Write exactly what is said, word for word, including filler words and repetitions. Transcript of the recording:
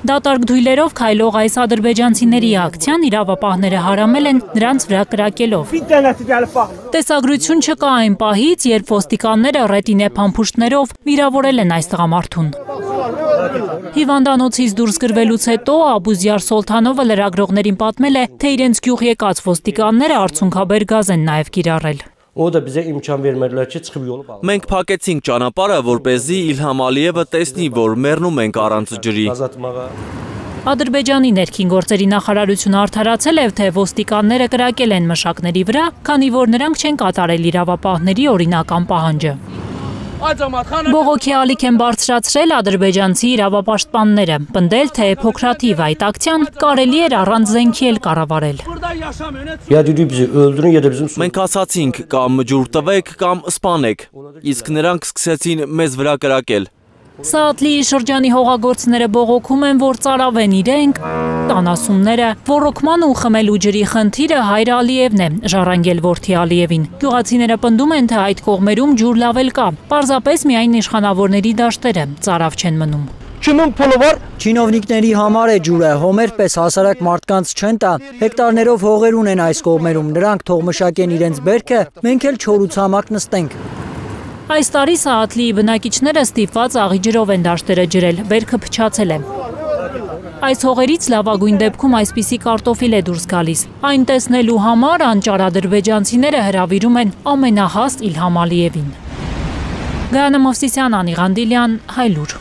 Դատարկ դույլերով քայլող այս ադրբեջանցիների ակցիան իրավապահները հարամել են նրանց վրա կրակելով։ Տեսագրություն չկա այն պահից, երբ ոստիկանները ռետինե փամփուշտներով վիրավորել են այս տղամարդուն։ Հիվանդանոցից դուրս գրվելուց հետո Աբուզյար Սոլթանովը լրագրողներին պատմել է, թե իրենց գյուղ եկած ոստիկանները արցունքաբեր գազ են նաև կիրառել։ Մենք փակեցինք ճանապարհը, որպեսզի Իլհամ Ալիևը տեսնի, որ մեռնում ենք առանց ջրի։ Ադրբեջանի ներքին գործերի նախարարությունը արդարացել է, թե ոստիկանները կրակել են մշակների վրա, քանի որ նրանք չեն կատարել իրավապահների օրինական պահանջը։ Բողոքի ալիք են բարձրացրել ադրբեջանցի իրավապաշտպանները, պնդել, թե փոքրաթիվ այդ ակցիան կարելի էր առանց զենքի էլ կառավարել։ Մենք ասացինք կամ ջուր տվեք կամ սպանեք, իսկ նրանք սկսեցին մեզ վրա կրակել։ Սաատլիի շրջանի հողագործները բողոքում են, որ ծարավեն իրենք, տանասունները, ոռոգման ու խմելու ջրի խնդիրը Հայր Ալիևն է, ժառանգել որդի Ալիևին։ Գյուղացիները պնդում են, թե այդ կողմերում ջուր լավ էլ կա, պարզապես միայն իշխանավորների դաշտերը ծարավ չեն մնում։ Չինովնիկների համար է ջուրը, հոմեր պես հասարակ մարդկանց չեն տա, հեկտարներով հողեր ունեն այս կողմերում, նրանք թող մշակեն իրենց բերքը, մենք էլ չոր ու ցամաք նստենք։ Այս տարի Սաատլիի բնակիչները ստիպված աղի ջրով են դաշտերը ջրել, բերքը փչացել է։ Այս հողերից լավագույն դեպքում այսպիսի կարտոֆիլ է դուրս գալիս։ Այն տեսնելու համար անճար ադրբեջանցիները հրավիրում են ամենահաստ Իլհամ Ալիևին։ Գայանե Մովսիսյան, Անի Ղանդիլյան, Հայլուր։